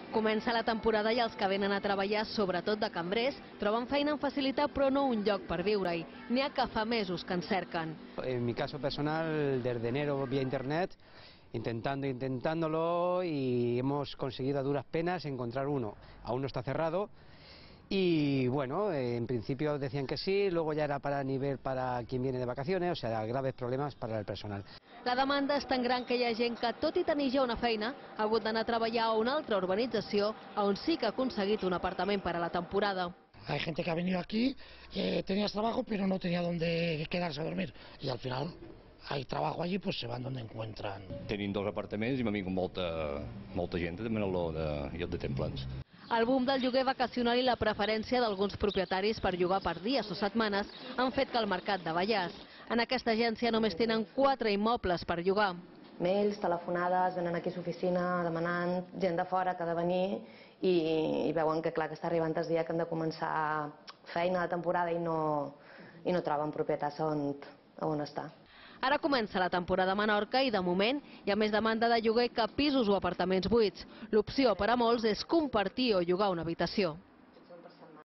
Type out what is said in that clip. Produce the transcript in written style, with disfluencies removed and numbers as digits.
Comença la temporada i els que venen a treballar, sobretot de cambrers, troben feina en facilitat però no un lloc per viure-hi. N'hi ha que fa mesos que en cerquen. En mi caso personal, desde enero vía internet, intentándolo y hemos conseguido a duras penas encontrar uno. Aún no está cerrado y bueno, en principio decían que sí, luego ya era para nivel para quien viene de vacaciones, o sea, graves problemas para el personal. La demanda és tan gran que hi ha gent que, tot i tenir ja una feina, ha hagut d'anar a treballar a una altra urbanització on sí que ha aconseguit un apartament per a la temporada. Hay gente que ha venido aquí, tenías trabajo pero no tenía dónde quedarse a dormir y al final hay trabajo allí, pues se van donde encuentran. Tenim 2 apartaments i m'ha vingut molta gent de demanar-lo de lloc de templats. El boom del lloguer vacacional i la preferència d'alguns propietaris per llogar per dies o setmanes han fet que el mercat davallàs. En aquesta agència només tenen 4 immobles per llogar. Mails, telefonades, venen aquí a l'oficina demanant gent de fora que ha de venir i veuen que clar que està arribant el dia que han de començar feina de temporada i no troben propietats on estar. Ara comença la temporada a Menorca i, de moment, hi ha més demanda de lloguer que pisos o apartaments buits. L'opció per a molts és compartir o llogar una habitació.